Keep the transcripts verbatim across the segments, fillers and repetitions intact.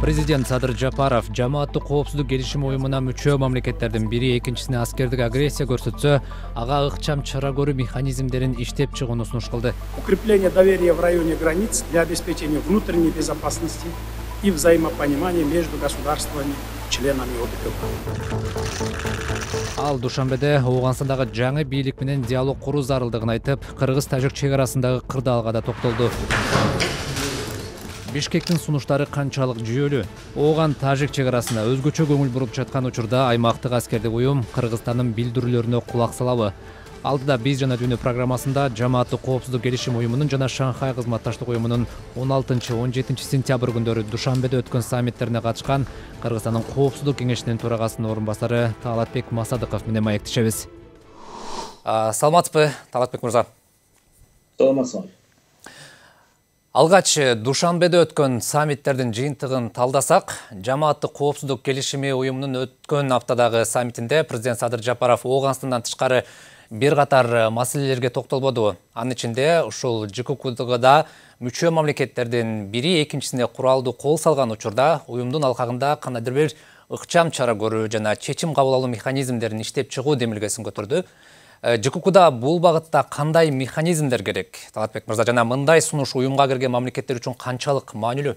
Президент Садыр Жапаров жамааттык коопсуздук келишим уюмуна мүчө мамлекеттердин бири экинчисине аскердик агрессия көрсөтсө, ага ыкчам чара көрүү механизмдерин иштеп чыгууну сунуш кылды. Укрепление доверия в районе границ для обеспечения внутренней безопасности и взаимопонимания между государствами, членами ОДКБ. Ал Душанбеде Ооганстандагы жаңы бийлик менен диалог куруу зарылдыгын айтып, кыргыз-тажик чек арасындагы кырдаалга да токтолду. Бишкектин сунуштары канчалык жүйөлүү? Ооган-тажик чек арасында өзгөчө көңүл буруп жаткан учурда аймактык аскердик уюм Кыргызстандын билдирүүлөрүнө кулак салабы? Алдыда биз жана дүйнө программасында жамааттык коопсуздук келишим уюмунун жана Шанхай кызматташтык уюмунун он алтынчы он жетинчи сентябрь күндөрү Душанбеде өткөн саммиттерине катышкан Кыргызстандын коопсуздук кеңешинин төрагасынын орун басары Талатбек Масадыков менен маектешебиз. Саламатсызбы, Талатбек мырза? Саламатсызбы. Алгач Душанбеде өткөн саммиттердин жыйынтыгын талдасак, жамааттык коопсуздук келишими уюмунун өткөн аптадагы саммитинде президент Садыр Жапаров Ооганстандан тышкары бир катар маселелерге токтолбоду. Анын ичинде ушул ЖККда мүчө мамлекеттердин бири экинчисине куралдуу кол салган учурда уюмдун алкагында кандайдыр бир ыкчам чара көрүү жана чечим кабыл алуу механизмдерин иштеп чыгуу демилгесин көтөрдү. ЖККда бул багытта кандай механизмдер керек? Талатбек мырза, жана мындай сунуш уюмга кирген мамлекеттер үчүн канчалык маанилүү?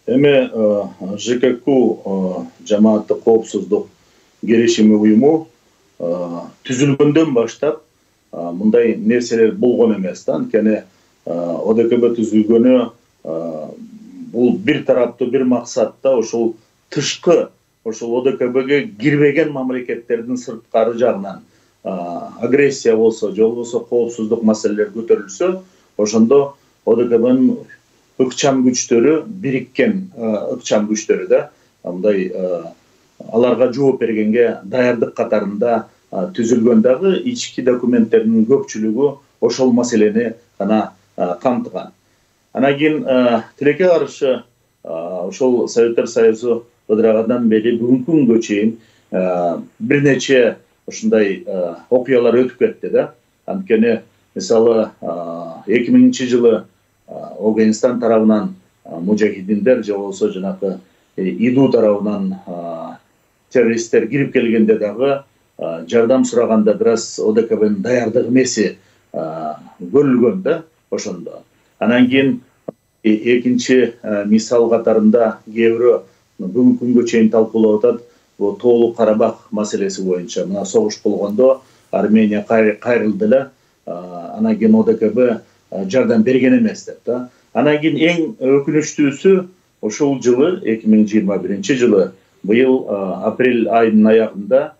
Эми ЖКК жамааттык коопсуздук келишими уюму түзүлгөндөн баштап мындай нерселер болгон эмес да. Анткени ОДКБ түзүлгөнү бул бир тараптуу бир максатта ошол тышкы ошол ОДКБге кирбеген мамлекеттердин сырткары жагынан агрессия болсо, же болбосо коопсуздук маселелер көтөрүлсө, ошондо ОДКБнын ыкчам күчтөрү бириккен ыкчам күчтөрү да мындай аларга жооп бергенге даярдык катарында түзүлгөн дагы ички документтердин көпчүлүгү ошол маселени гана камтыган. Анан кийин тилекке каршы ошол Советтер Союзу ыдырагандан бери бүгүнкү күнгө чейин бир нече ушундай окуялар өтүп кетти да. Анткени мисалы эки миңинчи жылы Афганистан тарабынан мужахидиндер же болбосо жанакы ИДУ тарабынан террористтер кирип келгенде дагы жардам сураганда бир аз ОДКБнын даярдык эмеси көрүлгөн да ошондо. Анан кийин экинчи мисал катарында кээ бирөө бүгүнкү күнгө чейин талкуулап атат, бул Тоолук Карабах маселеси боюнча мына согуш болгондо Армения кайрылды эле, анан кийин ОДКБ жардам берген эмес деп да. Анан кийин эң өкүнүчтүүсү ошол жылы эки миң жыйырма биринчи жылы быйыл апрель айынын аягында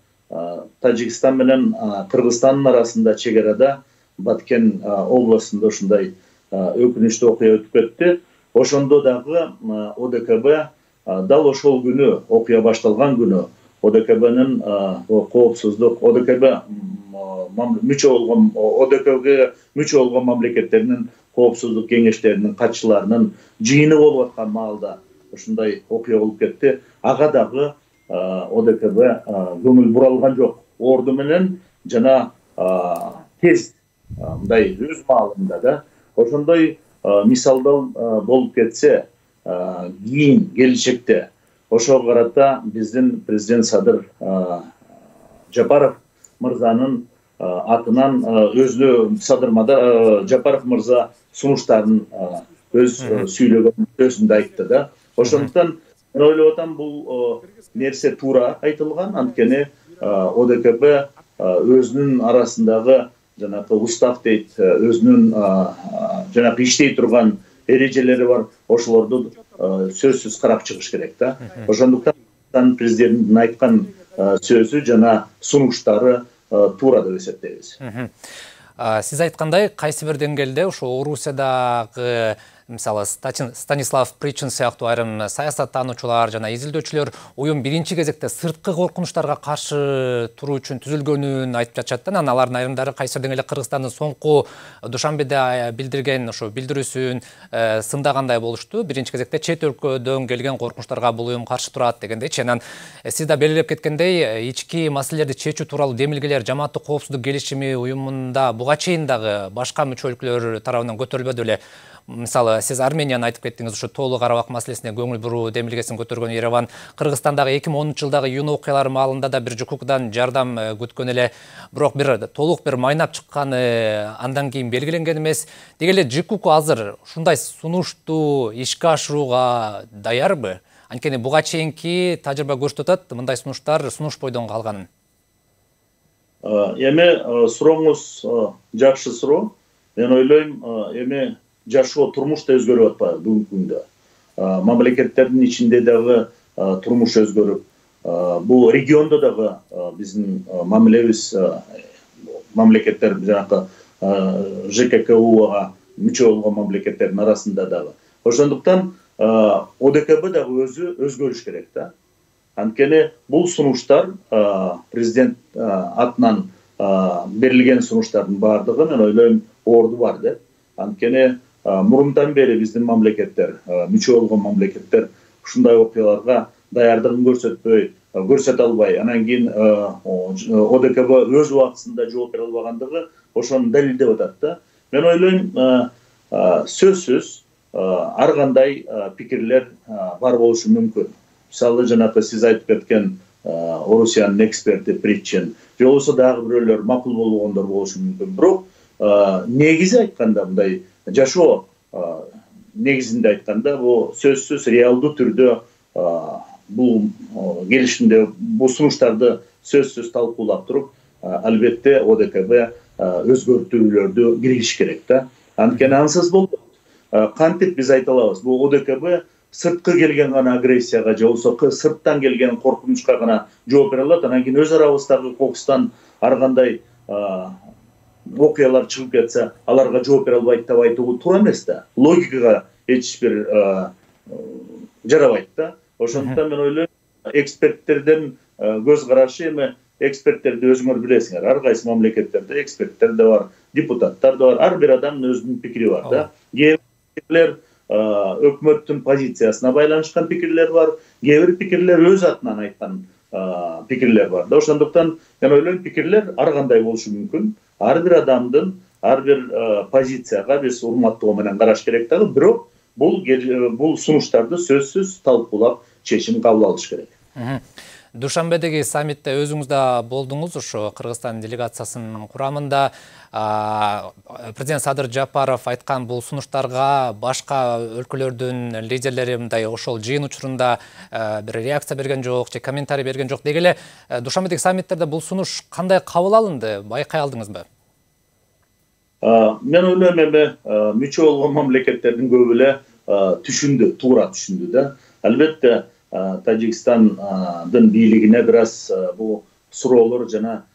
Тажикстан менен Кыргызстандын арасында чек арада Баткен областында ушундай өкүнүчтүү окуя өтүп кетти. Ошондо дагы ОДКБ дал ошол күнү, окуя башталган күнү ОДКБнын коопсуздук ОДКБ мүчө болгон ОДКБга мүчө болгон мамлекеттеринин коопсуздук кеңештеринин катчыларынын жыйыны болуп аткан маалда ушундай окуя болуп кетти. Ага дагы ОДКБ көңүл буралган жок. Орду менен жана тез мындай өз маалында да ошондой мисалдал болуп кетсе, кийин келечекте ошого карата биздин президент Садыр Жапаров мырзанын атынан өзү Садыр Жапаров мырза сунуштарын өз сүйлөгөн сөзүндө айтты да. Ошондуктан мен ойлоп атам, бул нерсе туура айтылган. Анткени ОДКБ өзүнүн арасындагы жанакы устав дейт, өзүнүн жанакы иштей турган эрежелери бар, ошолорду сөзсүз карап чыгыш керек да. Ошондуктан президенттин айткан сөзү жана сунуштары туура деп эсептейбиз. Сиз айткандай, кайсы бир деңгээлде ошо Орусиядагы Мисалы Станислав Причин сыяктуу айрым саясаттануучулар жана изилдөөчүлөр уюм биринчи кезекте сырткы коркунучтарга каршы туруу үчүн түзүлгөнүн айтып жатышат да. Анан алардын айрымдары кайсырдың эле Кыргызстандын соңку Душанбеде билдирген ошо билдирүүсүн сындагандай болушту. Биринчи кезекте чет өлкөдөн келген коркунучтарга бул уюм каршы турат дегендейчи. Анан сиз да белгилеп кеткендей, ички маселелерди чечүү тууралуу демилгелер жамааттык коопсуздук келишими уюмунда буга чейин дагы башка мүчө өлкөлөр тарабынан көтөрүлбөдү эле. Мисалы, сиз Арменияны айтып кеттиңиз, ушу Тоолу Карабак маселесине көңүл буруу демилгесин көтөргөн Ереван. Кыргызстандагы эки миң онунчу жылдагы июнь окуялары маалында да бир ЖКУКдан жардам күткөн эле, бирок бир толук бир майнап чыкканы андан кийин белгиленген эмес. Деги эле ЖКУК азыр ушундай сунушту ишке ашырууга даярбы? Анткени буга чейинки тажрыйба көрсөтүп атат, мындай сунуштар сунуш бойдон калганын. Эми сурооңуз жакшы суроо. Мен ойлойм, эми жашоо турмуш да өзгөрүп атпайбы бүгүнкү күндө. Мамлекеттердин ичинде дагы турмуш өзгөрүп, бул региондо дагы биздин мамилебиз мамлекеттер жанакы ЖККУга мүчө болгон мамлекеттердин арасында дагы. Ошондуктан ОДКБ дагы өзү өзгөрүш керек да. Анткени бул сунуштар президент атынан берилген сунуштардын баардыгы мен ойлойм орду бар деп. Анткени мурундан бери биздин мамлекеттер, мүчө болгон мамлекеттер ушундай окуяларга даярдыгын көрсөтпөй, көрсөтө албай, анан кийин ОДКБ өз убактысында жооп бере албагандыгы ошону далилдеп атат да. Мен ойлойм, сөзсүз ар кандай пикирлер бар болушу мүмкүн. Мисалы, жанакы сиз айтып кеткен Орусиянын эксперти Причин, же болбосо дагы бирөөлөр макул болгондор болушу мүмкүн. Бирок негизи айтканда, мындай жашоо негизинде айтканда, бул сөзсүз реалдуу түрдө бул келишимде бул сунуштарды сөзсүз талкуулап туруп, албетте ОДКБ өзгөртүүлөрдү киргизиш керек да. Анткени ансыз болбойт. Кантип биз айта алабыз? Бул ОДКБ сырткы келген гана агрессияга, же болбосо сырттан келген коркунучка гана жооп бере алат. Анан кийин өз арабыздагы кокустан ар кандай окуялар чыгып кетсе, аларга жооп бере албайт деп айтуу туура эмес да. Логикага эч бир жарабайт да. Ошондуктан мен ойлойм, эксперттердин көз карашы, эми эксперттерди өзүңөр билесиңер. Ар кайсы мамлекеттерде эксперттер да бар, депутаттар да бар. Ар бир адамдын өзүнүн пикири бар да. Кээ бир өкмөттүн позициясына байланышкан пикирлер бар, кээ бир пикирлер өз атынан айткан пикирлер бар да. Ошондуктан мен ойлойм, пикирлер ар кандай болушу мүмкүн. Ар бир адамдын ар бир позицияга биз урматтоо менен караш керек дагы, бирок бул бул сунуштарды сөзсүз талкуулап чечим кабыл алыш керек. Душанбедеги саммитте өзүңүз да болдуңуз, ошо Кыргызстан делегациясынын курамында. Президент Садыр Жапаров айткан бул сунуштарга башка өлкөлөрдүн лидерлери мындай ошол жыйын учурунда бир реакция берген жок, же комментарий берген жок. Деги эле Душанбедеги саммиттерде бул сунуш кандай кабыл алынды, байкай алдыңызбы? Мен ойлойм, эми мүчө болгон мамлекеттердин көбү эле түшүндү, туура түшүндү да. Албетте Тажикстандын бийлигине бир аз бул суроолор жана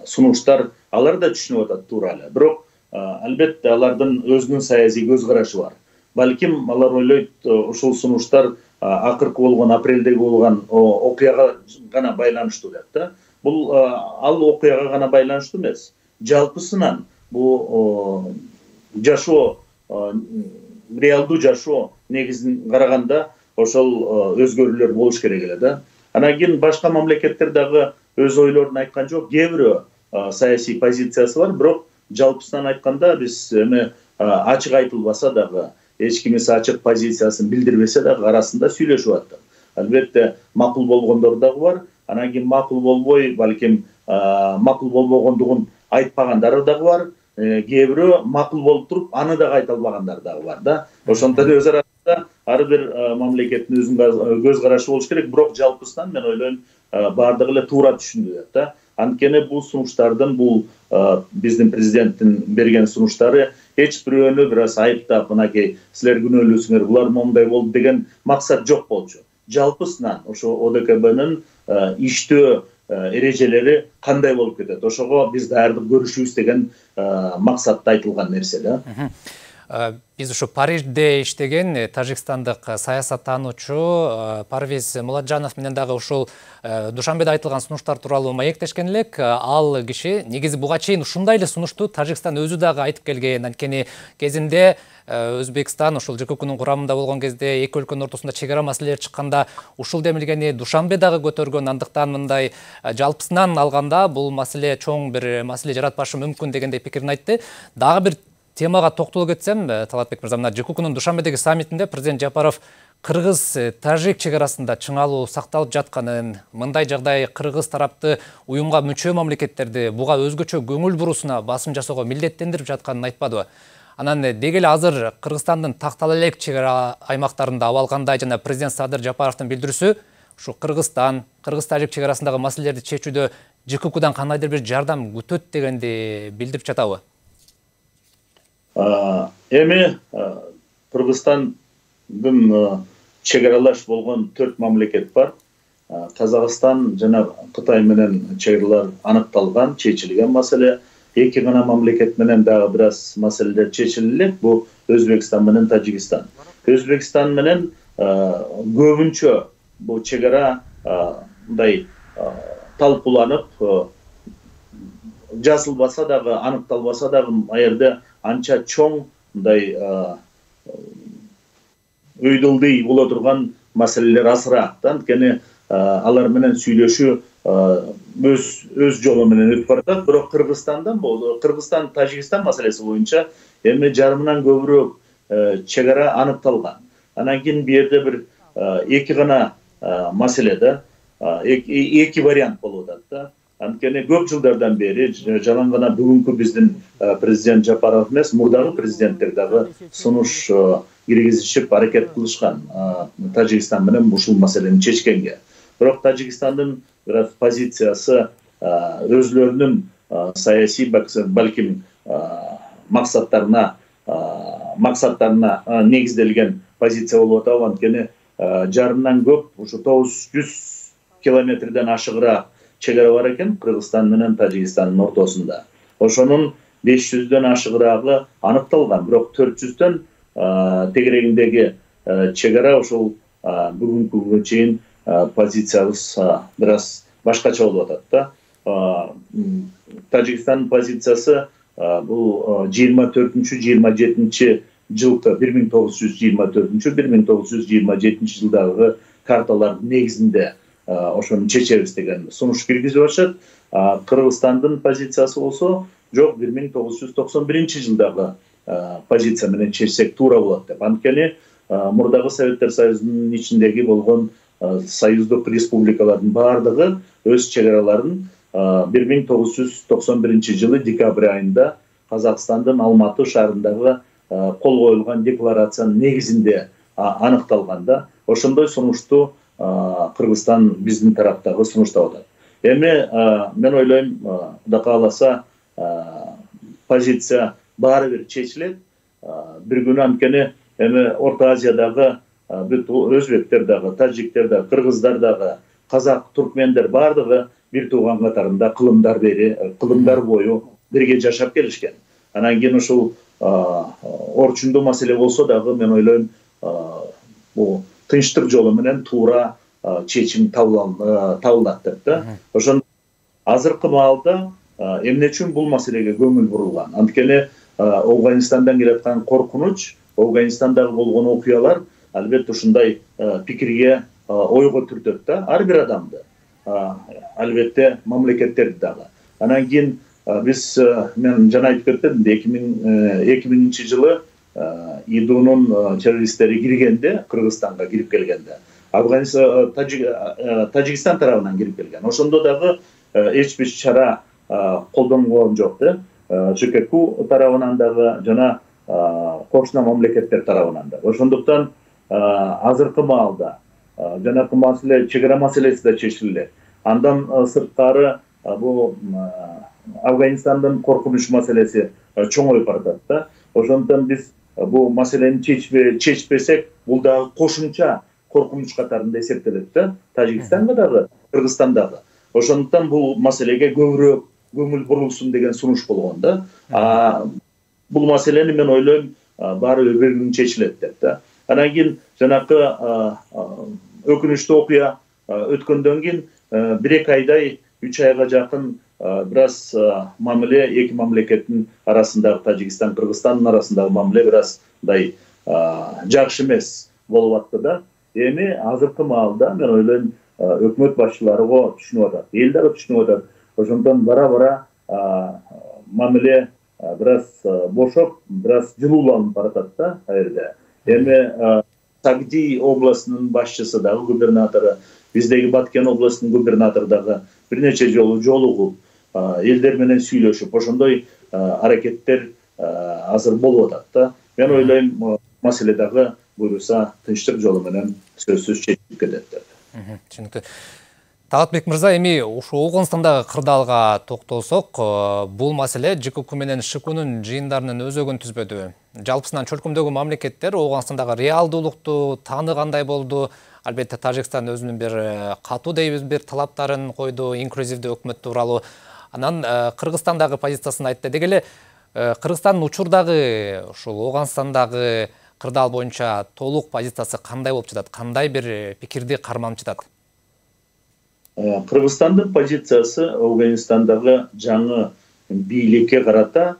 сунуштар алар да түшүнүп атат туура эле. Бирок албетте алардын өзүнүн саясий көз карашы бар. Балким алар ойлойт, ушул сунуштар акыркы болгон апрелдеги болгон окуяга гана байланыштуу деп да. Бул ал окуяга гана байланыштуу эмес. Жалпысынан бул жашоо, реалдуу жашоо негизин караганда ошол өзгөрүүлөр болуш керек эле да. Анан кийин башка мамлекеттер дагы өз ойлорун айткан жок. Кээ бирөө саясий позициясы бар, бирок жалпысынан айтканда биз эми ачык айтылбаса дагы, эч кимис ачык позициясын билдирбесе дагы арасында сүйлөшүп атат. Албетте макул болгондор дагы бар. Анан кийин макул болбой, балким макул болбогондугун айтпагандары дагы бар. Кээ бирөө макул болуп туруп, аны дагы айта албагандар дагы бар да. Ошондон өз арасында ар бир мамлекеттин өзүнүн көз карашы болуш керек, бирок жалпысынан мен ойлойм, баардыгы эле туура түшүндү деп да. Анткени бул сунуштардын, бул биздин президенттин берген сунуштары эч бирөөнү бир аз айыптап, мынакей силер күнөөлүүсүңөр, булар мондай болду деген максат жок болчу. Жалпысынан ошо ОДКБнын иштөө эрежелери кандай болуп кетет, ошого биз даярдык көрүшүбүз деген максатта айтылган нерсе да. Биз ушу Парижде иштеген тажикстандык саясаттануучу Парвиз Муладжанов менен дагы ушул Душанбеде айтылган сунуштар тууралуу маектешкен элек. Ал киши негизи буга чейин ушундай эле сунушту Тажикстан өзү дагы айтып келген. Анткени кезинде Өзбекстан ушул ЖККнун курамында болгон кезде эки өлкөнүн ортосунда чек ара маселелери чыкканда ушул демилгени Душанбе дагы көтөргөн. Андыктан мындай жалпысынан алганда бул маселе чоң бир маселе жаратпашы мүмкүн дегендей пикирин айтты. Дагы бир темага токтоло кетсем, Талатбек мырза, мына ЖККнун Душанбедеги саммитинде президент Жапаров кыргыз-тажик чек арасында чыңалуу сакталып жатканын, мындай жагдай кыргыз тарапты уюмга мүчө мамлекеттерди буга өзгөчө көңүл буруусуна басым жасоого милдеттендирип жатканын айтпадыбы? Анан деги эле азыр Кыргызстандын тактала элек чек ара аймактарында абалгандай жана президент Садыр Жапаровдун билдирүүсү ушу Кыргызстан, кыргыз-тажик чек арасындагы маселелерди чечүүдө ЖККдан кандайдыр бир жардам күтөт дегенди билдирип жатабы? Эми Кыргызстандын чек аралаш болгон төрт мамлекет бар. Казакстан жана Кытай менен чек аралар аныкталган, чечилген маселе. Эки гана мамлекет менен дагы бир аз маселелер чечилди. Бул Өзбекстан менен Тажикстан. Өзбекстан менен көбүнчө бул чек ара мындай талкууланып, жазылбаса дагы, аныкталбаса дагы аерде анча чоң мындай өйдөлдөй боло турган маселелер азыраак. Анткени алар менен сүйлөшүү өз өз жолу менен өтүп баратат. Бирок Кыргызстандан болду, Кыргызстан Тажикстан маселеси боюнча эми жарымынан көбүрөөк чек ара аныкталган. Анан кийин бу жерде бир эки гана маселе да, эки вариант болуп атат да. Анткени көп жылдардан бери жалаң гана бүгүнкү биздин президент Жапаров эмес, мурдагы президенттер дагы сунуш киргизишип аракет кылышкан Тажикстан менен ушул маселени чечкенге. Бирок Тажикстандын бир позициясы өзлөрүнүн саясий балким максаттарына максаттарына негизделген позиция болуп атат. Анткени жарымдан көп, ушу тогуз жүз километрден ашыгыраак чек ара бар экен Кыргызстан менен Тажикстандын ортосунда. Ошонун беш жүздөн ашыгыраагы аныкталган, бирок төрт жүздөн тегерегиндеги чек ара ушул бүгүнкү күнгө чейин позициябыз бир аз башкача болуп атат да. Тажикстандын позициясы бул жыйырма төртүнчү жыйырма жетинчи жылкы бир миң тогуз жүз жыйырма төртүнчү бир миң тогуз жүз жыйырма жетинчи жылдагы карталардын негизинде ошону чечебиз деген сунуш киргизип атышат. Кыргызстандын позициясы болсо жок, бир миң тогуз жүз токсон биринчи жылдагы позиция менен чечсек туура болот деп. Анткени мурдагы Советтер Союзунун ичиндеги болгон союздук республикалардын баардыгы өз чек араларын бир миң тогуз жүз токсон биринчи жылы декабрь айында Казакстандын Алматы шаарындагы кол коюлган декларациянын негизинде аныкталган да. Ошондой сунушту Кыргызстан биздин тараптагы сунуштап атат. Эми мен ойлойм, Кудай кааласа позиция баары бир чечилет. Бир күнү, анткени эми Орто Азиядагы бүт өзбектер дагы, тажиктер дагы, кыргыздар дагы, казак, туркмендер баардыгы бир тууган катарында кылымдар бери, кылымдар бою бирге жашап келишкен. Анан кийин ушул орчундуу маселе болсо дагы мен ойлойм, бул тынчтык жолу менен туура чечим табылат деп да. Ошон азыркы маалда эмне үчүн бул маселеге көңүл бурулган? Анткени Афганистандан келаткан коркунуч, Афганистандагы болгон окуялар албетте ушундай пикирге, ойго түртөт да, ар бир адамды. Албетте мамлекеттерди дагы. Анан кийин биз, мен жана айтып кеттим, эки миңинчи жылы ИДУнун террористтери киргенде, Кыргызстанга кирип келгенде, Афганистан, Тажикстан тарабынан кирип келген. Ошондо дагы эч бир чара колдонгон жок да. ЖКК тарабынан дагы жана кошуна мамлекеттер тарабынан дагы. Ошондуктан азыркы маалда жанакы маселе, чек ара маселеси да чечилди. Андан сырткары бул Афганистандын коркунуч маселеси чоңоюп баратат да. Ошондуктан биз бул маселени чечпесек, бул дагы кошумча коркунуч катарында эсептелет да, Тажикстанга дагы, Кыргызстандагы. Ошондуктан бул маселеге көбүрөөк көңүл бурулсун деген сунуш болгон да. Бул маселени мен ойлойм, баары бир күн чечилет деп да. Анан кийин жанакы өкүнүчтүү окуя өткөндөн кийин бир эки айдай, үч айга жакын бир аз мамиле эки мамлекеттин арасындагы, Тажикстан, Кыргызстандын арасындагы мамиле бир аз мындай жакшы эмес болуп атты да. Эми азыркы маалда мен ойлойм өкмөт башчылары го түшүнүп атат, эл дагы түшүнүп атат. Ошондон бара-бара мамиле бир аз бошоп, бир аз жылууланып баратат да кайерде. Эми Сагди областынын башчысы дагы, губернатору, биздеги Баткен областынын губернатору дагы бир нече жолу жолугуп, элдер менен сүйлөшүп, ошондой аракеттер азыр болуп атат да. Мен ойлойм, маселе дагы буюрса тынчтык жолу менен сөзсүз чечилип кетет деп. Түшүнүктүү. Талатбек мырза, эми ушул Ооганстандагы кырдаалга токтолсок, бул маселе ЖКК менен ШКУнун жыйындарынын өзөгүн түзбөдү. Жалпысынан чөлкөмдөгү мамлекеттер Ооганстандагы реалдуулукту тааныгандай болду. Албетте Тажикстан өзүнүн бир катуу дейбиз бир талаптарын койду, инклюзивдүү өкмөт тууралуу. Анан Кыргызстандагы позициясын айтты. Деги эле Кыргызстандын учурдагы ушул Ооганстандагы кырдаал боюнча толук позициясы кандай болуп жатат? Кандай бир пикирди карманып жатат? Кыргызстандын позициясы Афганистандагы жаңы бийликке карата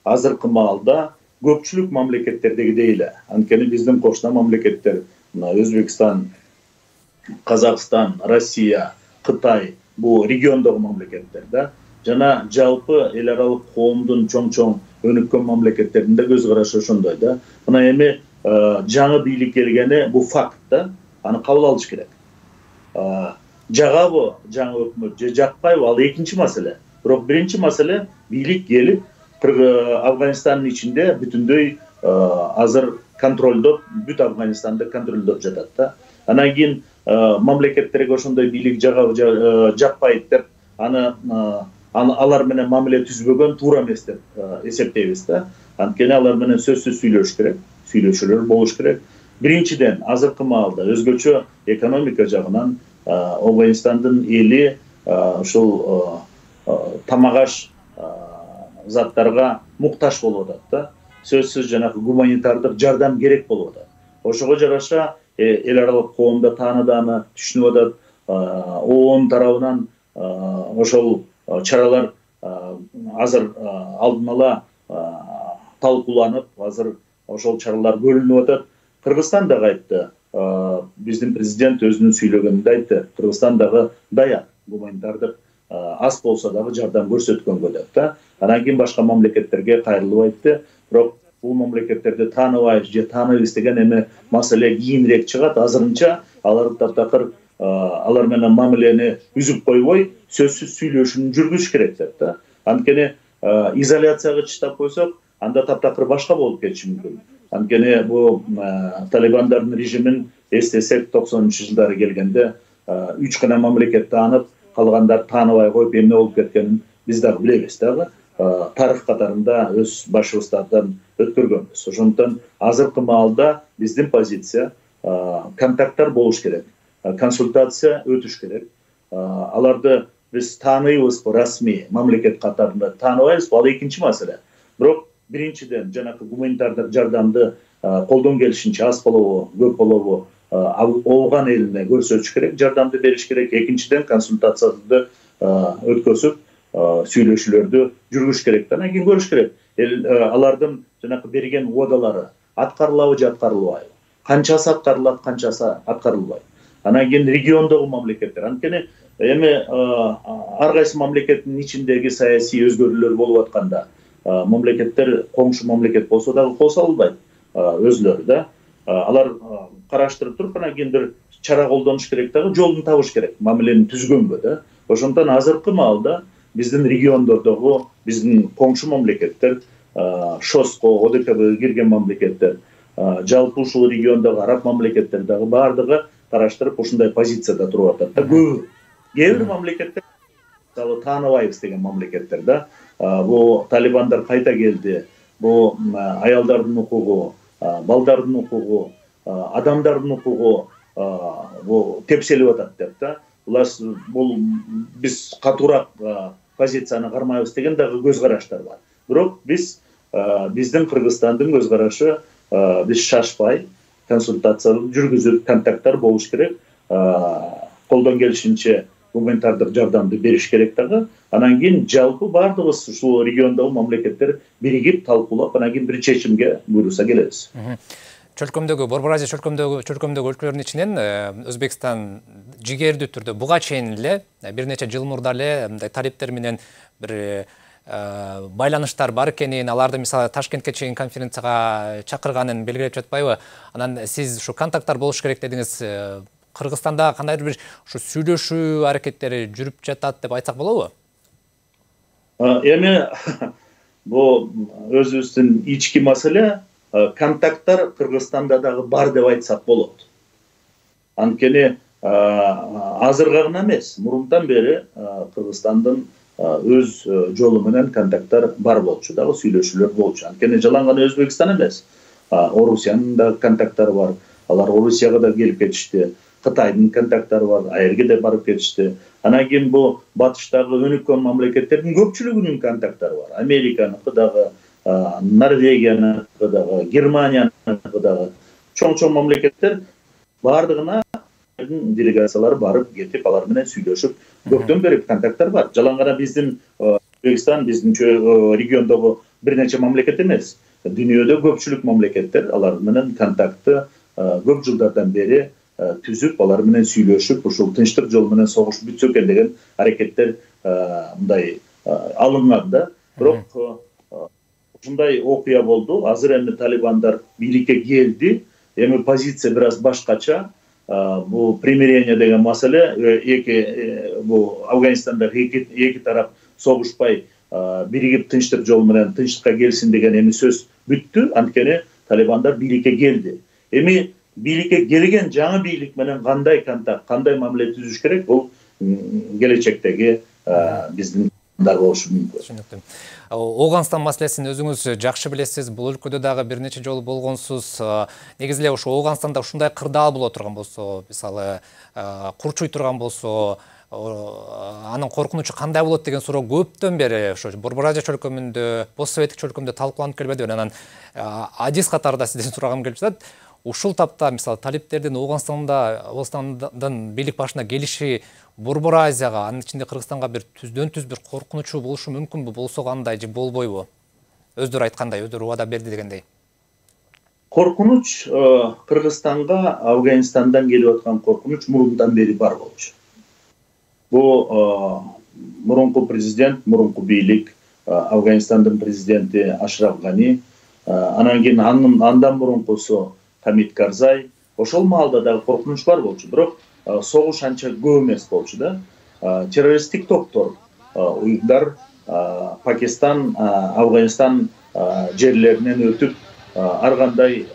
азыркы маалда көпчүлүк мамлекеттердегидей эле. Анткени биздин кошуна мамлекеттер, Өзбекстан, Казакстан, Россия, Кытай, бул региондогу мамлекеттер да. Жана жалпы эл аралык коомдун чоң-чоң өнүккөн мамлекеттеринде көз карашы ошондой да. Мына эми жаңы бийлик келгени бул факт да. Аны кабыл алыш керек. Жагабы жаңы өкмөт же жакпайбы, ал экинчи маселе. Бирок биринчи маселе бийлик келип Афганистандын ичинде бүтүндөй азыр контролдоп, бүт Афганистанды контролдоп жатат да. Анан кийин мамлекеттерге ошондой бийлик жагабы жакпайт деп, аны алар менен мамиле түзбөгөн туура эмес деп эсептейбиз да. Анткени алар менен сөзсүз сүйлөшүш керек, сүйлөшүүлөр болуш керек. Биринчиден, азыркы маалда өзгөчө экономика жагынан Афганистандын эли ушул тамак аш заттарга муктаж болуп атат да. Сөзсүз жанагы гуманитардык жардам керек болуп атат. Ошого жараша эл аралык коомдо тааныдааны түшүнүп атат. ООН тарабынан ошол чаралар азыр алдын ала талкууланып, азыр ошол чаралар көрүлүп атат. Кыргызстан дагы айтты, биздин президент өзүнүн сүйлөгөнүндө айтты, Кыргызстан дагы даяр гуманитардык аз болсо дагы жардам көрсөткөнгө деп да. Анан кийин башка мамлекеттерге кайрылып айтты. Бирок бул мамлекеттерди тааныбайбыз же тааныбайбыз деген эми маселе кийинирээк чыгат. Азырынча алар таптакыр алар менен мамилени үзүп койбой, сөзсүз сүйлөшүүнү жүргүзүш керек деп да. Анткени изоляцияга чыштап койсок, анда таптакыр башка болуп кетиши мүмкүн. Анткени бул талибандардын режимин эстесек, токсонунчу жылдары келгенде үч гана мамлекет таанып, калгандар тааныбай коюп эмне болуп кеткенин биз дагы билебиз дагы. Тарых катарында өз башыбыздардан өткөргөнбүз. Ошондон азыркы маалда биздин позиция контакттар болуш керек, консультация өтүш керек. Аларды биз тааныбызбы, расмий мамлекет катарында тааныбайбызбы, ал экинчи маселе. Бирок биринчиден жанакы гуманитардык жардамды колдон келишинче аз болобу, көп болобу Афган элине көрсөтүш керек, жардамды бериш керек. Экинчиден консультацияларды өткөзүп, сүйлөшүүлөрдү жүргүзүш керек. Анан кийин көрүш керек. Алардын жанакы берген уадалары аткарылабы же аткарылбайбы? Канчасы аткарылат, канчасы аткарылбайт? Анан кийин региондогу мамлекеттер. Анткени эми ар кайсы мамлекеттин ичиндеги саясий өзгөрүүлөр болуп атканда, мамлекеттер коңшу мамлекет болсо дагы кол албайт өзлөрү да. Алар караштырып туруп, анан кийин бир чара колдонуш керек дагы, жолун табыш керек мамилени түзгөнгө да. Ошондон азыркы маалда биздин региондордогу, биздин коңшу мамлекеттер, ШОСко, ОДКБга кирген мамлекеттер, жалпы ушул региондогу араб мамлекеттер дагы баардыгы караштырып ушундай позицияда туруп атат да. Көбү кээ бир мамлекеттер мисалы тааныбайбыз деген мамлекеттер да. Бул талибандар кайта келди, бул аялдардын укугу, балдардын укугу, адамдардын укугу бул тепселип атат деп да. Бул биз катуураак позицияны кармайбыз деген дагы көз караштар бар. Бирок биз биздин Кыргызстандын көз карашы биз шашпай консультация жүргүзүп, контакттар болуш керек, колдон келишинче гуманитардык жардамды бериш керек дагы. Анан кийин жалпы бардыгыбыз ушул региондогу мамлекеттер биригип талкуулап, анан кийин бир чечимге буйруса келебиз. Чөлкөмдөгү, Борбор Азия чөлкөмдөгү чөлкөмдөгү өлкөлөрдүн ичинен Өзбекстан жигердүү түрдө буга чейин эле бир нече жыл мурда эле мындай талиптер менен бир байланыштар бар экенин, аларды мисалы Ташкентке чейин конференцияга чакырганын белгилеп жатпайбы? Анан сиз ушу контакттар болуш керек дедиңиз. Кыргызстанда кандайдыр бир ушу сүйлөшүү аракеттери жүрүп жатат деп айтсак болобу? Эми бул өзүбүздүн ички маселе, контакттар Кыргызстанда дагы бар деп айтсак болот. Анткени азыркы гана эмес, мурунтан бери Кыргызстандын өз жолу менен контакттар бар болчу, дагы сүйлөшүүлөр болчу. Анткени жалаң гана Өзбекстан эмес, Орусиянын да контакттары бар. Алар Орусияга да келип кетишти. Кытайдын контакттары бар, айерге да барып кетишти. Анан кийин бул батыштагы өнүккөн мамлекеттердин көпчүлүгүнүн контакттары бар. Американыкы дагы, Норвегияныкы дагы, Германияныкы дагы. Чоң-чоң мамлекеттер бардыгына делегациялар барып кетип, алар менен сүйлөшүп, көптөн бери контакттар бар. Жалаң гана биздин Өзбекстан, биздин региондогу бир нече мамлекет эмес. Дүйнөдө көпчүлүк мамлекеттер алар менен контактты көп жылдардан бери түзүп, алар менен сүйлөшүп, ушул тынчтык жол менен согуш бүтсө экен деген аракеттер мындай алынган да. Бирок ушундай окуя болду. Азыр эми талибандар бийликке келди. Эми позиция бир аз башкача. Бул примирение деген маселе, эки бул Афганистандагы эки эки тарап согушпай биригип тынчтык жол менен тынчтыкка келсин деген эми сөз бүттү. Анткени талибандар бийликке келди. Эми бийликке келген жаңы бийлик менен кандай контакт, кандай мамиле түзүш керек, бул келечектеги биздин дар болушу мүмкүн. Түшүнүктүү. Оогандстан маселесин өзүңүз жакшы билесиз. Бул өлкөдө дагы бир нече жолу болгонсуз. Негизи эле ушу Оогандстанда ушундай кырдаал боло турган болсо, мисалы, курчуй турган болсо, анын коркунучу кандай болот деген суроо көптөн бери ошо Борбор Азия чөлкөмүндө, постсоветтик чөлкөмдө талкууланып келбеди. Анан адис катарында сизден сурагым келип жатат. Ушул тапта мисалы талиптердин Оогандстанда, Оогандстандын бийлик башына келиши Борбор Азияга, анын ичинде Кыргызстанга бир түздөн түз бир коркунучу болушу мүмкүнбү? Болсо кандай же болбойбу? Өздөрү айткандай, өздөрү убада берди дегендей. Коркунуч Кыргызстанга Афганистандан келип аткан коркунуч мурунтан бери бар болчу. Бул мурунку президент, мурунку бийлик, Афганистандын президенти Ашраф Гани, анан кийин андан мурункусу Хамид Карзай, ошол маалда дагы коркунуч бар болчу. Бирок согуш анча көп эмес болчу да. Террористтик топтор, уюмдар Пакистан, Афганистан жерлеринен өтүп, ар кандай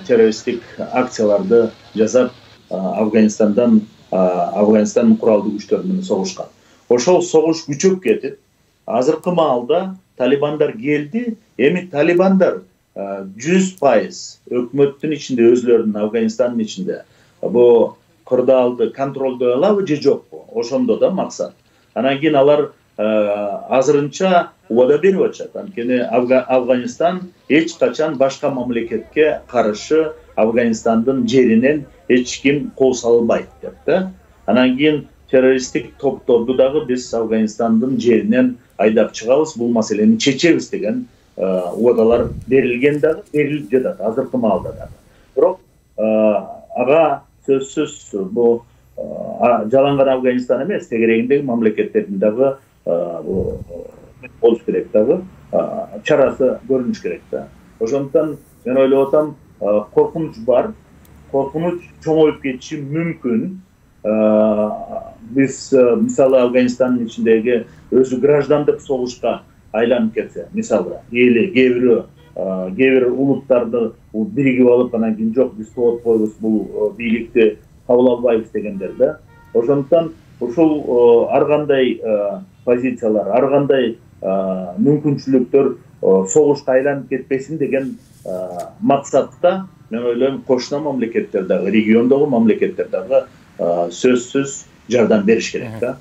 террористтик акцияларды жасап, Афганистандан Афганистандын куралдуу күчтөрү менен согушкан. Ошол согуш күчөп кетип, азыркы маалда талибандар келди. Эми талибандар жүз пайыз өкмөттүн ичинде, өзлөрүнүн Афганистандын ичинде бу кырдаалды контролдой алабы же жокпу? Ошондо да максат. Анан кийин алар азырынча убада берип атышат. Анткени Афганистан эч качан башка мамлекетке каршы Афганистандын жеринен эч ким кол салбайт деп да. Анан кийин террористтик топторду дагы биз Афганистандын жеринен айдап чыгабыз, бул маселени чечебиз деген убадалар берилген дагы, берилип жатат азыркы маалда дагы. Бирок ага сөзсүз бул жалаң гана Афганистан эмес, тегерегиндеги мамлекеттердин дагы болуш керек дагы, чарасы көрүнүш керек да. Ошондуктан мен ойлоп атам, коркунуч бар, коркунуч чоңоюп кетиши мүмкүн. Биз мисалы Афганистандын ичиндеги өзү граждандык согушка айланып кетсе, мисалы, эли кээ бирөө кээ бир улуттарды биригип алып, анан кийин жок биз тоот койбуз, бул бийликти кабыл албайбыз дегендер да. Ошондуктан ушул ар кандай позициялар, ар кандай мүмкүнчүлүктөр согушка айланып кетпесин деген максатта мен ойлойм кошуна мамлекеттер дагы, региондогу мамлекеттер дагы сөзсүз жардам бериш керек да.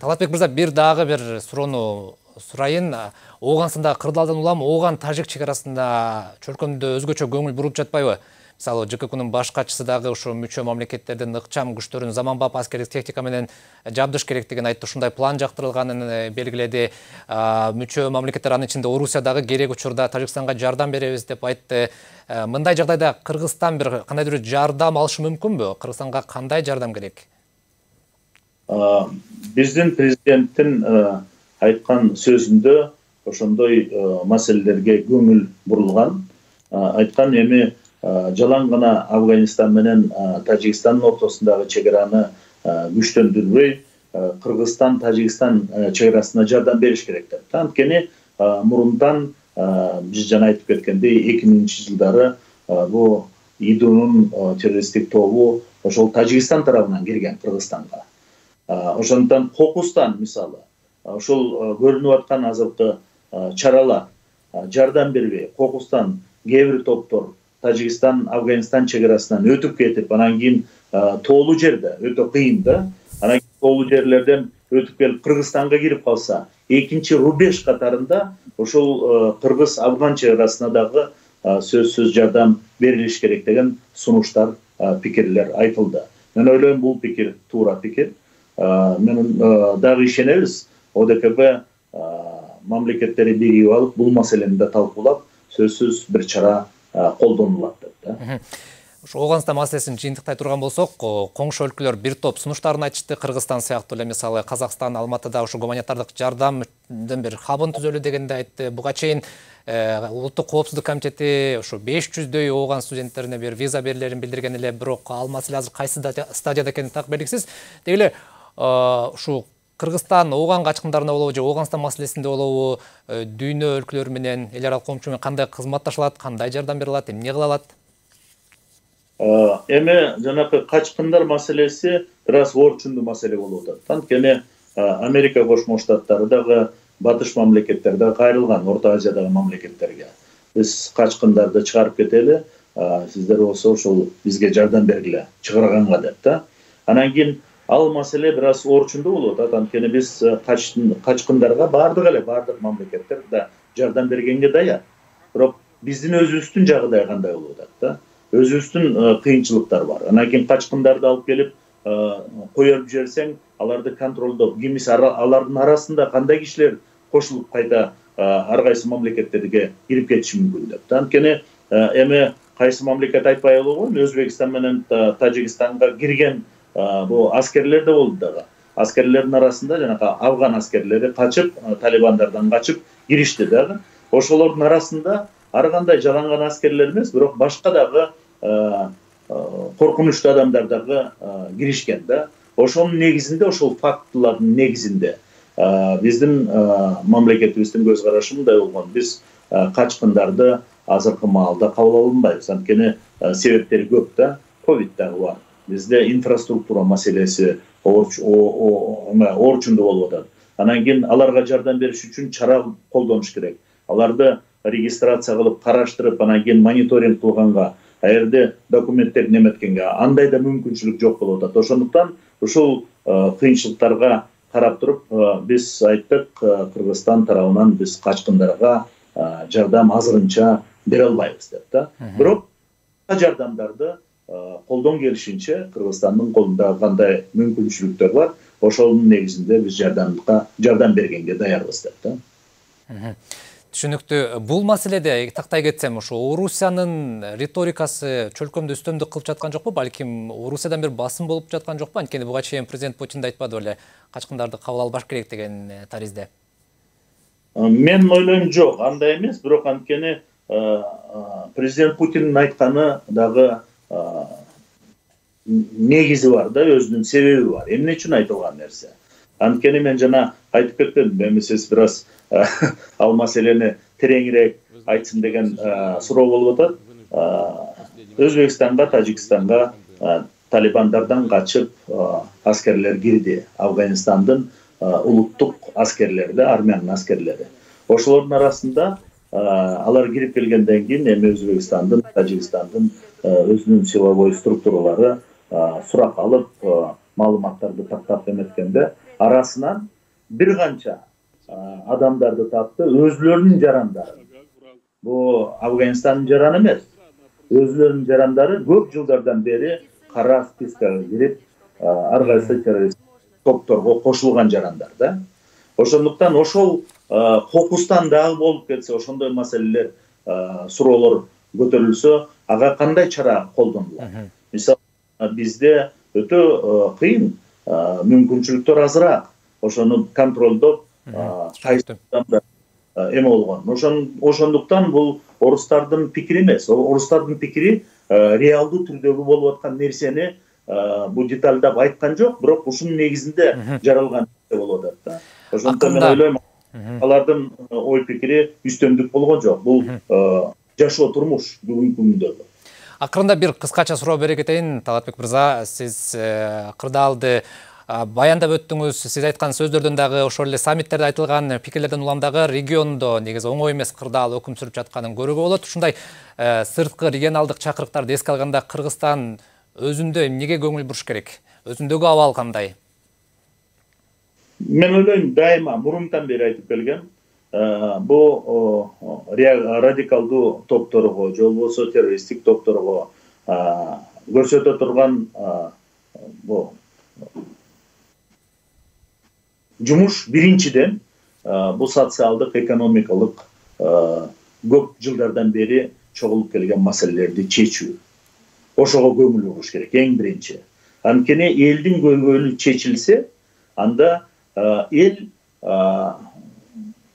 Талатбек мырза, бир дагы бир суроону сурайын. Ооганстанда кырдаалдан улам Ооган Тажик чек арасында чөлкөмдө өзгөчө көңүл буруп жатпайбы? Мисалы, ЖККнын баш катчысы дагы ушу мүчө мамлекеттердин ыкчам күчтөрүн заманбап аскердик техника менен жабдыш керектигин айтты. Ушундай план жактырылганын белгиледи. Мүчө мамлекеттер, анын ичинде Орусия дагы керек учурда Тажикстанга жардам беребиз деп айтты. Мындай жагдайда Кыргызстан бир кандайдыр бир жардам алышы мүмкүнбү? Кыргызстанга кандай жардам керек? Биздин президенттин айткан сөзүндө ошондой маселелерге көңүл бурулган. Айткан эми жалаң гана Афганистан менен Тажикстандын ортосундагы чек араны күчтөндүрбөй, Кыргызстан Тажикстан чек арасына жардам бериш керек деп. Анткени мурундан биз жана айтып кеткендей эки миңинчи жылдары бул ИДУнун террористтик тобу ошол Тажикстан тарабынан кирген Кыргызстанга. Ошондуктан кокустан мисалы ошол көрүнүп аткан азыркы чаралар жардам бербей, кокустан кээ бир топтор Тажикстан, Афганистан чек арасынан өтүп кетип, анан кийин тоолуу жерде өтө кыйын да. Анан тоолуу жерлерден өтүп келип Кыргызстанга кирип калса, экинчи рубеж катарында ошол Кыргыз-Афган чек арасына дагы сөзсүз жардам берилиш керек деген сунуштар, пикирлер айтылды. Мен ойлойм, бул пикир туура пикир. Мен дагы ишенебиз, ОДКБ мамлекеттери биригип алып, бул маселени да талкуулап, сөзсүз бир чара колдонулат деп да. Ушу Ооганстан маселесин жыйынтыктай турган болсок, коңшу өлкөлөр бир топ сунуштарын айтышты. Кыргызстан сыяктуу эле, мисалы, Казакстан Алматыда ушу гуманитардык жардамдын бир хабын түзөлү дегенди айтты. Буга чейин Улуттук коопсуздук комитети ушу беш жүздөй Ооган студенттерине бир виза берилерин билдирген эле, бирок ал маселе азыр кайсы стадияда экени так белгисиз. Деги эле ушу Кыргызстан Ооган качкындарына болобу же Ооганстан маселесинде болобу дүйнө өлкөлөрү менен, эл аралык коомчу менен кандай кызматташылат, кандай жардам бере алат, эмне кыла алат? Эми жанакы качкындар маселеси бир аз орчундуу маселе болуп атат. Анткени Америка Кошмо Штаттары дагы, батыш мамлекеттер дагы кайрылган Орто Азиядагы мамлекеттерге. Биз качкындарды чыгарып кетели, сиздер болсо ошол бизге жардам бергиле, чыгарганга деп да. Анан кийин ал маселе бир аз орчундуу болуп атат. Анткени биз качкындарга бардык эле бардык мамлекеттер да жардам бергенге даяр. Бирок биздин өзүбүздүн жагдай кандай болуп атат да? Өзүбүздүн кыйынчылыктар бар. Анан кийин качкындарды алып келип коюп жиберсең, аларды контролдоп, кимиси алардын арасында кандай кишилер кошулуп кайта ар кайсы мамлекеттерге кирип кетиши мүмкүн деп. Анткени эми кайсы мамлекет айтпай койгон, Өзбекстан менен Тажикстанга кирген бул аскерлер да болду дагы. Аскерлердин арасында жанагы Афган аскерлери качып, талибандардан качып киришти дагы. Ошолордун арасында ар кандай жаланган аскерлер эмес, бирок башка дагы коркунучтуу адамдар дагы киришкен да. Ошонун негизинде, ошол фактылардын негизинде биздин мамлекетибиздин көз карашы мындай болгон. Биз качкындарды азыркы маалда кабыл алынбайбыз. Анткени себептери көп да. Ковид дагы бар. Бизде инфраструктура маселеси орчундуу болуп атат. Анан кийин аларга жардам бериш үчүн чара колдонуш керек. Аларды регистрация кылып, караштырып, анан кийин мониторинг кылганга, аерде документтерин эметкенге андай да мүмкүнчүлүк жок болуп атат. Ошондуктан ушул кыйынчылыктарга карап туруп, биз айттык, Кыргызстан тарабынан биз качкындарга жардам азырынча бере албайбыз деп да. Бирок жардамдарды колдон келишинче Кыргызстандын колунда кандай мүмкүнчүлүктөр бар, ошонун негизинде биз жардамга жардам бергенге даярбыз деп да. Түшүнүктүү. Бул маселеде тактай кетсем, ушу Орусиянын риторикасы чөлкөмдө үстөмдүк кылып жаткан жокпу? Балким Орусиядан бир басым болуп жаткан жокпу? Анткени буга чейин президент Путин да айтпады беле, качкындарды кабыл албаш керек деген таризде. Мен ойлойм, жок, андай эмес, бирок анткени президент Путиндин айтканы дагы негизи бар да, өзүнүн себеби бар. Эмне үчүн айтылган нерсе? Анткени мен жана айтып кеттим, эми сиз бир аз ал маселени тереңирээк айтсын деген суроо болуп атат. Өзбекстанга, Тажикстанга талибандардан качып аскерлер кирди. Афганистандын улуттук аскерлери, армиянын аскерлери. Ошолордун арасында алар кирип келгенден кийин эми Өзбекстандын, Тажикстандын өзүнүн силовой структуралары сурак алып, маалыматтарды тактап эметкенде арасынан бир канча адамдарды тапты, өзлөрүнүн жарандары. Бул Афганистандын жараны эмес. Өзлөрүнүн жарандары көп жылдардан бери кара спискага кирип, ар кайсы террорист топторго кошулган жарандар да. Ошондуктан ошол кокустан дагы болуп кетсе, ошондой маселелер, суроолор көтөрүлсө, ага кандай чара колдонулат? Мисалы, бизде өтө кыйын, мүмкүнчүлүктөр азыраак. Ошону контролдоп, кайсыдан эме болгон. Ошондуктан бул орустардын пикири эмес. Орустардын пикири реалдуу түрдөгү болуп аткан нерсени бул детальдап айткан жок, бирок ушунун негизинде жаралган болуп атат да. Ошондуктан мен ойлойм, алардын ой пикири үстөмдүк болгон жок. Бул жашоо турмуш бүгүнкү күндөгү. Акырында бир кыскача суроо бере кетейин, Талатбек мырза. Сиз кырдаалды баяндап өттүңүз. Сиз айткан сөздөрдөн дагы, ошол эле саммиттерде айтылган пикирлерден улам дагы региондо негизи оңой эмес кырдаал өкүм сүрүп жатканын көрүүгө болот. Ушундай сырткы регионалдык чакырыктарды эске алганда Кыргызстан өзүндө эмнеге көңүл буруш керек? Өзүндөгү абал кандай? Мен ойлойм, дайыма мурунтан бери айтып келген, бул радикалдуу топторго, же болбосо террористтик топторго көрсөтө турган бул жумуш биринчиден бул социалдык, экономикалык көп жылдардан бери чогулуп келген маселелерди чечүү. Ошого көңүл буруш керек, эң биринчи. Анткени элдин көйгөйү чечилсе, анда эл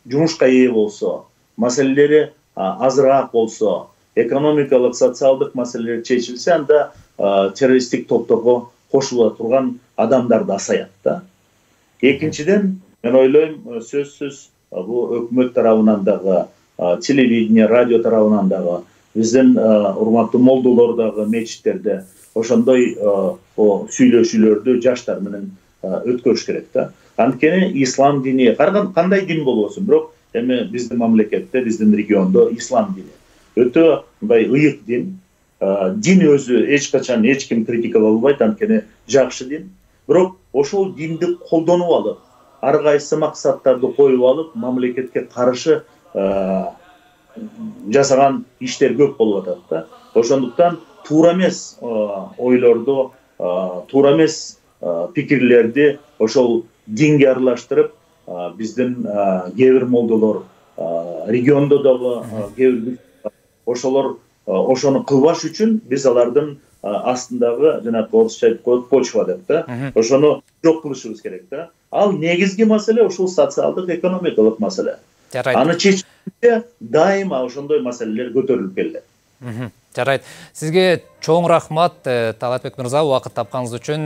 жумушка ээ болсо, маселелери азыраак болсо, экономикалык, социалдык маселелер чечилсе, анда террористтик топторго кошула турган адамдар да азаят да. Экинчиден, мен ойлойм, сөзсүз бул өкмөт тарабынан дагы, телевидение, радио тарабынан дагы, биздин урматтуу молдолор дагы мечиттерде ошондой сүйлөшүүлөрдү жаштар менен өткөрүш керек да. Анткени ислам дини, кандай дин болбосун, бирок эми биздин мамлекетте, биздин региондо ислам дини өтө мындай ыйык дин. Дин өзү эч качан эч ким критикалай албайт, анткени жакшы дин. Бирок ошол динди колдонуп алып, ар кайсы максаттарды коюп алып, мамлекетке каршы жасаган иштер көп болуп атат да. Ошондуктан туура эмес ойлорду, туура эмес пикирлерди ошол динге аралаштырып, биздин кээ бир молдолор, региондо дагы кээ бир ошолор ошону кылбаш үчүн биз алардын астындагы, жанагы орусча айтып коет, почва деп да, ошону жок кылышыбыз керек да. Ал негизги маселе ошол социалдык, экономикалык маселе. Аны чечүүгө дайыма ошондой маселелер көтөрүлүп келет. Жарайт. Сизге чоң рахмат, Талатбек мырза, убакыт тапканыңыз үчүн.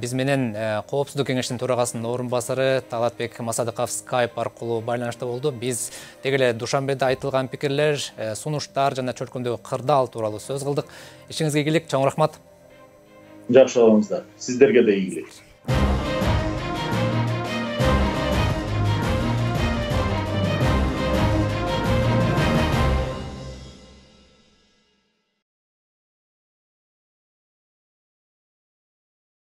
Биз менен Коопсуздук кеңештин төрагасынын орун басары Талатбек Масадыков скайп аркылуу байланышта болду. Биз деги эле Душанбеде айтылган пикирлер, сунуштар жана чөлкөмдөгү кырдаал тууралуу сөз кылдык. Ишиңизге ийгилик, чоң рахмат. Жакшы болуңуздар. Сиздерге да ийгилик.